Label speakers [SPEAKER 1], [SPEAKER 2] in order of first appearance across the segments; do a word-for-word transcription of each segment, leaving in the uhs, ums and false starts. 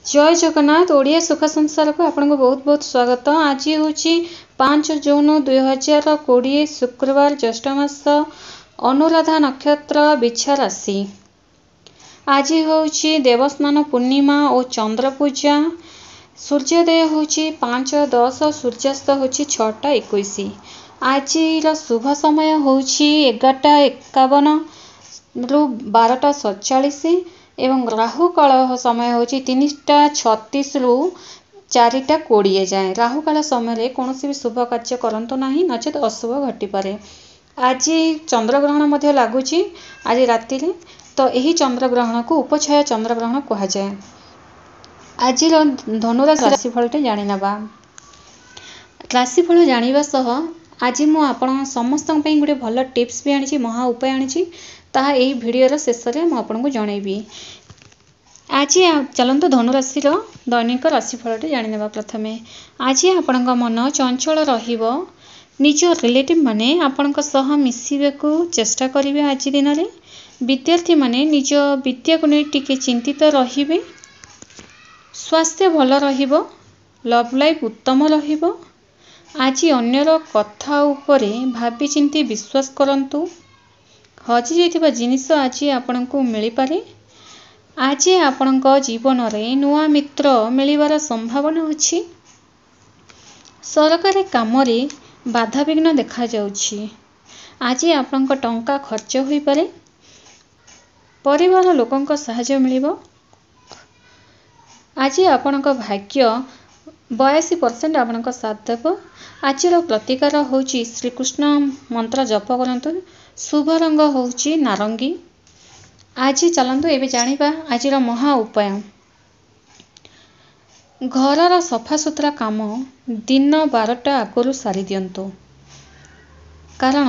[SPEAKER 1] ଜୟ ଜଗନ୍ନାଥ। ଓଡ଼ିଆ ସୁଖ ସଂସାରକୁ ଆପଣଙ୍କୁ ବହୁତ ବହୁତ ସ୍ୱାଗତ। ଆଜି ହେଉଛି ପାଞ୍ଚ ଜୁନ ଦୁଇ ହଜାର କୋଡ଼ିଏ, ଶୁକ୍ରବାର, ଜ୍ୟେଷ୍ଠ ମାସ, ଅନୁରାଧା ନକ୍ଷତ୍ର, ବିଛା ରାଶି। ଆଜି ହେଉଛି ଦେବସ୍ନାନ ପୂର୍ଣ୍ଣିମା ଓ ଚନ୍ଦ୍ର ପୂଜା। ସୂର୍ଯ୍ୟୋଦୟ ହେଉଛି ପାଞ୍ଚ ଦଶ, ସୂର୍ଯ୍ୟାସ୍ତ ହେଉଛି ଛଅଟା ଏକୋଇଶ। ଆଜିର ଶୁଭ ସମୟ ହେଉଛି ଏଗାରଟା ଏକାବନରୁ ବାରଟା ସତଚାଳିଶ ଏବଂ ରାହୁକାଳ ସମୟ ହେଉଛି ତିନିଟା ଛତିଶରୁ ଚାରିଟା କୋଡ଼ିଏ ଯାଏଁ। ରାହୁକାଳ ସମୟରେ କୌଣସି ବି ଶୁଭ କାର୍ଯ୍ୟ କରନ୍ତୁ ନାହିଁ, ନଚେତ୍ ଅଶୁଭ ଘଟିପାରେ। ଆଜି ଚନ୍ଦ୍ରଗ୍ରହଣ ମଧ୍ୟ ଲାଗୁଛି ଆଜି ରାତିରେ। ତ ଏହି ଚନ୍ଦ୍ରଗ୍ରହଣକୁ ଉପଛାୟା ଚନ୍ଦ୍ରଗ୍ରହଣ କୁହାଯାଏ। ଆଜିର ଧନୁରାଶି ରାଶିଫଳଟି ଜାଣିନେବା। ରାଶିଫଳ ଜାଣିବା ସହ ଆଜି ମୁଁ ଆପଣ ସମସ୍ତଙ୍କ ପାଇଁ ଗୋଟେ ଭଲ ଟିପ୍ସ ବି ଆଣିଛି, ମହା ଉପାୟ ଆଣିଛି, ତାହା ଏହି ଭିଡ଼ିଓର ଶେଷରେ ମୁଁ ଆପଣଙ୍କୁ ଜଣାଇବି। ଆଜି ଚାଲନ୍ତୁ ଧନୁରାଶିର ଦୈନିକ ରାଶିଫଳଟି ଜାଣିନେବା। ପ୍ରଥମେ ଆଜି ଆପଣଙ୍କ ମନ ଚଞ୍ଚଳ ରହିବ। ନିଜ ରିଲେଟିଭ୍ ମାନେ ଆପଣଙ୍କ ସହ ମିଶିବାକୁ ଚେଷ୍ଟା କରିବେ ଆଜି ଦିନରେ। ବିଦ୍ୟାର୍ଥୀମାନେ ନିଜ ବିଦ୍ୟାକୁ ନେଇ ଟିକେ ଚିନ୍ତିତ ରହିବେ। ସ୍ୱାସ୍ଥ୍ୟ ଭଲ ରହିବ। ଲଭ୍ ଲାଇଫ୍ ଉତ୍ତମ ରହିବ। ଆଜି ଅନ୍ୟର କଥା ଉପରେ ଭାବିଚିନ୍ତି ବିଶ୍ୱାସ କରନ୍ତୁ। ହଜିଯାଇଥିବା ଜିନିଷ ଆଜି ଆପଣଙ୍କୁ ମିଳିପାରେ। ଆଜି ଆପଣଙ୍କ ଜୀବନରେ ନୂଆ ମିତ୍ର ମିଳିବାର ସମ୍ଭାବନା ଅଛି। ସରକାରୀ କାମରେ ବାଧାବିଘ୍ନ ଦେଖାଯାଉଛି। ଆଜି ଆପଣଙ୍କ ଟଙ୍କା ଖର୍ଚ୍ଚ ହୋଇପାରେ। ପରିବାର ଲୋକଙ୍କ ସାହାଯ୍ୟ ମିଳିବ। ଆଜି ଆପଣଙ୍କ ଭାଗ୍ୟ ବୟାଅଶୀ ପରସେଣ୍ଟ ଆପଣଙ୍କ ସାଥ ଦେବ। ଆଜିର ପ୍ରତିକାର ହେଉଛି ଶ୍ରୀକୃଷ୍ଣ ମନ୍ତ୍ର ଜପ କରନ୍ତୁ। ଶୁଭ ରଙ୍ଗ ହେଉଛି ନାରଙ୍ଗୀ। ଆଜି ଚାଲନ୍ତୁ ଏବେ ଜାଣିବା ଆଜିର ମହା ଉପାୟ। ଘରର ସଫାସୁତୁରା କାମ ଦିନ ବାରଟା ଆଗରୁ ସାରିଦିଅନ୍ତୁ, କାରଣ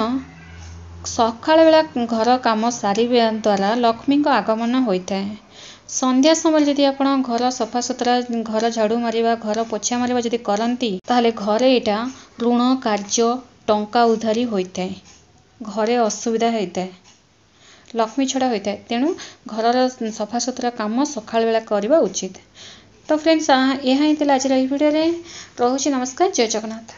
[SPEAKER 1] ସକାଳ ବେଳା ଘର କାମ ସାରିବା ଦ୍ୱାରା ଲକ୍ଷ୍ମୀଙ୍କ ଆଗମନ ହୋଇଥାଏ। ସନ୍ଧ୍ୟା ସମୟରେ ଯଦି ଆପଣ ଘର ସଫାସୁତୁରା, ଘର ଝାଡ଼ୁ ମାରିବା, ଘର ପୋଛା ମାରିବା ଯଦି କରନ୍ତି, ତାହେଲେ ଘରେ ଏଇଟା ଋଣ କାର୍ଯ୍ୟ, ଟଙ୍କା ଉଧାରି ହୋଇଥାଏ, ଘରେ ଅସୁବିଧା ହୋଇଥାଏ, ଲକ୍ଷ୍ମୀ ଛଡ଼ା ହୋଇଥାଏ। ତେଣୁ ଘରର ସଫାସୁତୁରା କାମ ସକାଳ ବେଳା କରିବା ଉଚିତ। ତ ଫ୍ରେଣ୍ଡସ୍, ଏହା ହିଁ ଥିଲା ଆଜିର ଏହି ଭିଡ଼ିଓରେ। ରହୁଛି, ନମସ୍କାର, ଜୟ ଜଗନ୍ନାଥ।